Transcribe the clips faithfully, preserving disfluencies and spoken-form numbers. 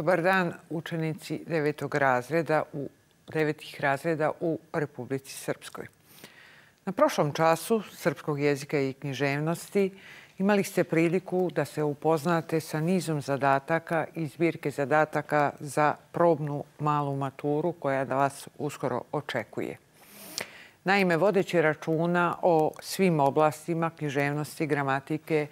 Dobar dan, učenici devetog razreda u devetih razreda u Republici Srpskoj. Na prošlom času srpskog jezika i književnosti imali ste priliku da se upoznate sa nizom zadataka i zbirke zadataka za probnu malu maturu koja da vas uskoro očekuje. Naime, vodeći računa o svim oblastima književnosti, gramatike,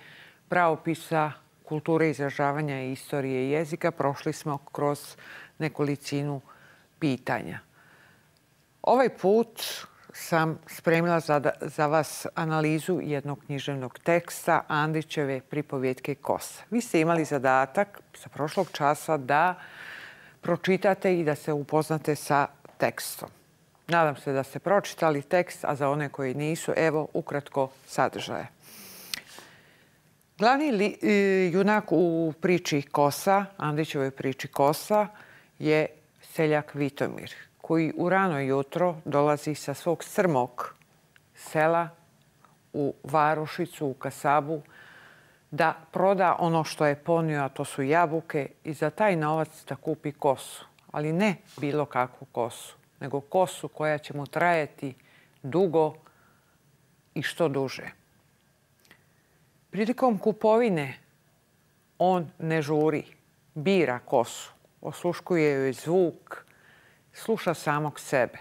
pravopisa, kulture izražavanja i istorije jezika, prošli smo kroz nekolicinu pitanja. Ovaj put sam spremila za, za vas analizu jednog književnog teksta Andrićeve pripovjetke Kosa. Vi ste imali zadatak sa prošlog časa da pročitate i da se upoznate sa tekstom. Nadam se da ste pročitali tekst, a za one koji nisu, evo ukratko sadržaje. Glavni li, junak u priči Kosa, Andrićevoj priči Kosa, je seljak Vitomir, koji u rano jutro dolazi sa svog strmog sela u varošicu, u kasabu, da proda ono što je ponio, a to su jabuke, i za taj novac da kupi kosu. Ali ne bilo kakvu kosu, nego kosu koja će mu trajati dugo i što duže. Prilikom kupovine on ne žuri, bira kosu, osluškuje joj zvuk, sluša samog sebe.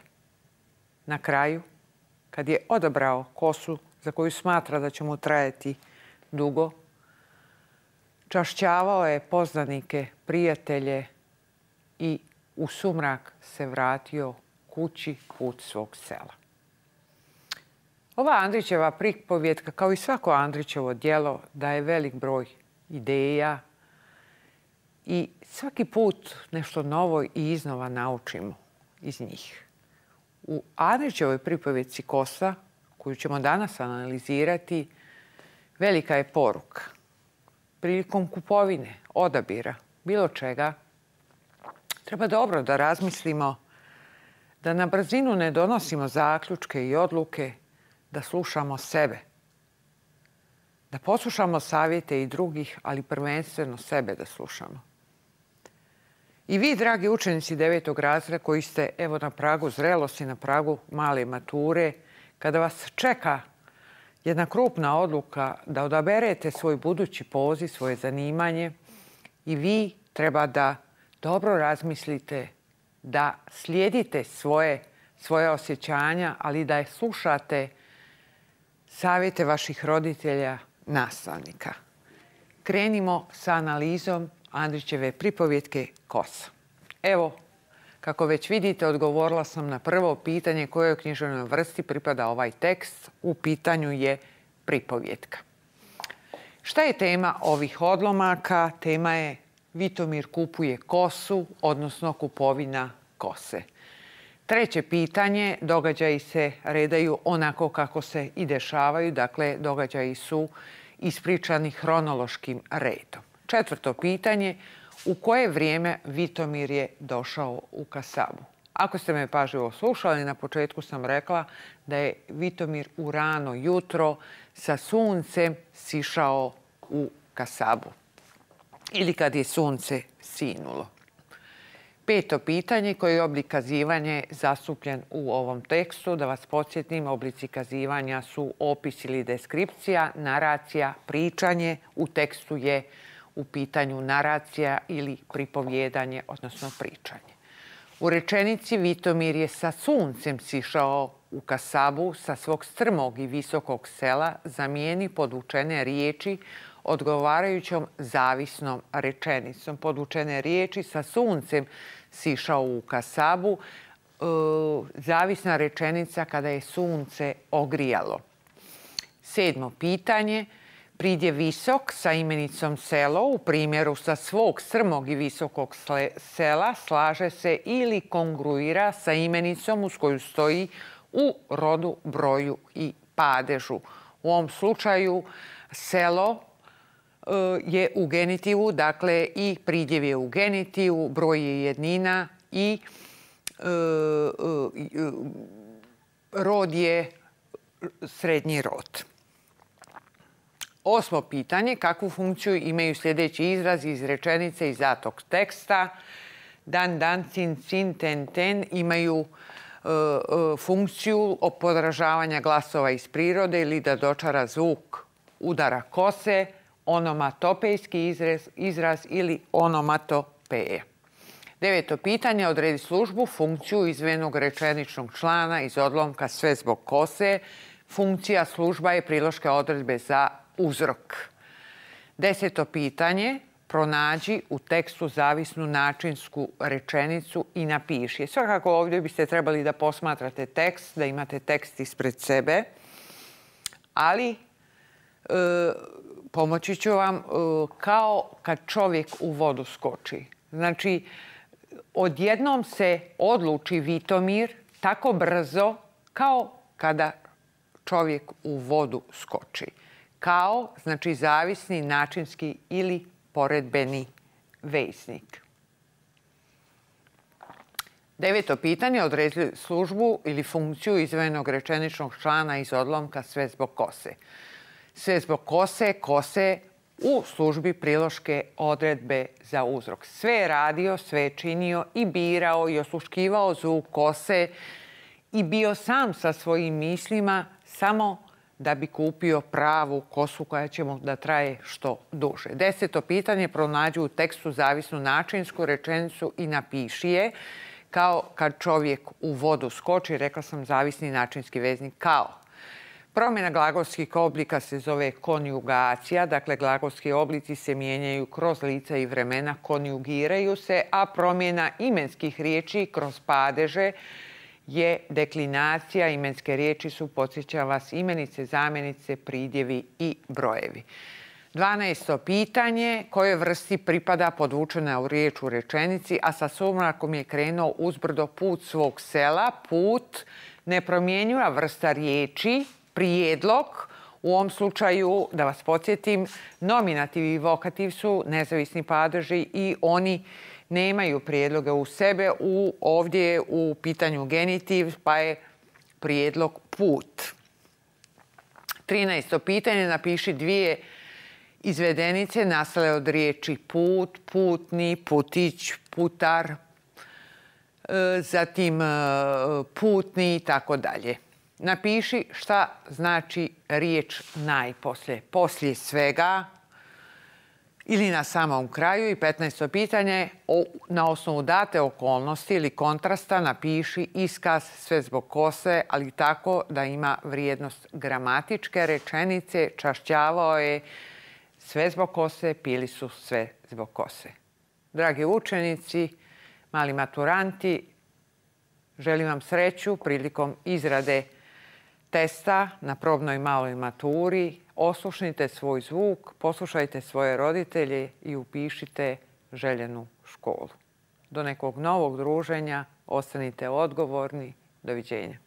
Na kraju, kad je odabrao kosu za koju smatra da će mu trajati dugo, čašćavao je poznanike, prijatelje i u sumrak se vratio kući put svog sela. Ova Andrićeva pripovjetka, kao i svako Andrićevo djelo, daje velik broj ideja i svaki put nešto novo i iznova naučimo iz njih. U Andrićevoj pripovjetci Kosa, koju ćemo danas analizirati, velika je poruka. Prilikom kupovine, odabira, bilo čega, treba dobro da razmislimo, da na brzinu ne donosimo zaključke i odluke, da slušamo sebe, da poslušamo savjete i drugih, ali prvenstveno sebe da slušamo. I vi, dragi učenici devetog razreda, koji ste evo na pragu zrelosti, na pragu male mature, kada vas čeka jedna krupna odluka da odaberete svoj budući poziv, svoje zanimanje, i vi treba da dobro razmislite, da slijedite svoje, svoje osjećanja, ali da je slušate savjete vaših roditelja, nastavnika. Krenimo sa analizom Andrićeve pripovjetke Kosa. Evo, kako već vidite, odgovorila sam na prvo pitanje kojoj književnoj vrsti pripada ovaj tekst. U pitanju je pripovjetka. Šta je tema ovih odlomaka? Tema je Vitomir kupuje kosu, odnosno kupovina kose. Treće pitanje, događaji se redaju onako kako se i dešavaju, dakle događaji su ispričani hronološkim redom. Četvrto pitanje, u koje vrijeme Vitomir je došao u kasabu? Ako ste me pažljivo slušali, na početku sam rekla da je Vitomir u rano jutro sa suncem sišao u kasabu ili kad je sunce sinulo. Peto pitanje, koji je oblik kazivanja zastupljen u ovom tekstu. Da vas podsjetim, oblici kazivanja su opis ili deskripcija, naracija, pričanje. U tekstu je u pitanju naracija ili pripovjedanje, odnosno pričanje. U rečenici Vitomir je sa suncem sišao u kasabu sa svog strmog i visokog sela, zamijeni podvučene riječi odgovarajućom zavisnom rečenicom. Podvučene riječi sa suncem sišao u kasabu, e, zavisna rečenica kada je sunce ogrijalo. Sedmo pitanje, pridjev visok sa imenicom selo u primjeru sa svog strmog i visokog sela slaže se ili kongruira sa imenicom uz koju stoji u rodu, broju i padežu. U ovom slučaju selo je u genitivu, dakle i pridjev je u genitivu, broj je jednina i e, e, rod je srednji rod. Osmo pitanje. Kakvu funkciju imaju sljedeći izrazi iz rečenice iz datog teksta? Dan, dan, cin, cin, ten, ten imaju e, e, funkciju podražavanja glasova iz prirode ili da dočara zvuk udara kose, onomatopejski izraz, izraz ili onomatopeje. Deveto pitanje. Odredi službu, funkciju izdvojenog rečeničnog člana iz odlomka sve zbog kose. Funkcija služba je priloške odredbe za uzrok. Deseto pitanje. Pronađi u tekstu zavisnu načinsku rečenicu i napiši. Svakako ovdje biste trebali da posmatrate tekst, da imate tekst ispred sebe, ali e, pomoći ću vam e, kao kad čovjek u vodu skoči. Znači, odjednom se odluči Vitomir tako brzo kao kada čovjek u vodu skoči. Kao, znači zavisni, načinski ili poredbeni veznik. Deveto pitanje. Odredi službu ili funkciju izdvojenog rečeničnog člana iz odlomka sve zbog kose. Sve zbog kose, kose u službi priloške odredbe za uzrok. Sve je radio, sve je činio i birao i osluškivao zvuk kose i bio sam sa svojim mislima samo da bi kupio pravu kosu koja će mu da traje što duže. Deseto pitanje. Pronađi u tekstu zavisnu načinsku rečenicu i napiši je. Kao kad čovjek u vodu skoči, rekla sam zavisni načinski veznik kao. Promjena glagolskih oblika se zove konjugacija, dakle glagolski oblici se mijenjaju kroz lica i vremena, konjugiraju se, a promjena imenskih riječi kroz padeže je deklinacija. Imenske riječi su, podsjeća vas, imenice, zamjenice, pridjevi i brojevi. Dvanaesto pitanje. Kojoj vrsti pripada podvučena u riječ u rečenici, a sa sumrakom je krenuo uzbrdo put svog sela? Put, nepromjenjiva vrsta riječi, prijedlog. U ovom slučaju, da vas podsjetim, nominativ i vokativ su nezavisni padeži i oni nemaju prijedloga u sebe. U, ovdje je u pitanju genitiv, pa je prijedlog put. Trinaesto pitanje. Napiši dvije izvedenice nastale od riječi put, putni, putić, putar, zatim putni i tako dalje. Napiši šta znači riječ najposlije. Poslije svega ili na samom kraju. I petnaesto pitanje. Na osnovu date okolnosti ili kontrasta napiši iskaz sve zbog kose, ali tako da ima vrijednost gramatičke rečenice. Čašćavao je sve zbog kose, pili su sve zbog kose. Dragi učenici, mali maturanti, želim vam sreću prilikom izrade testa na probnoj maloj maturi. Oslušnite svoj zvuk, poslušajte svoje roditelje i upišite željenu školu. Do nekog novog druženja, ostanite odgovorni. Doviđenja.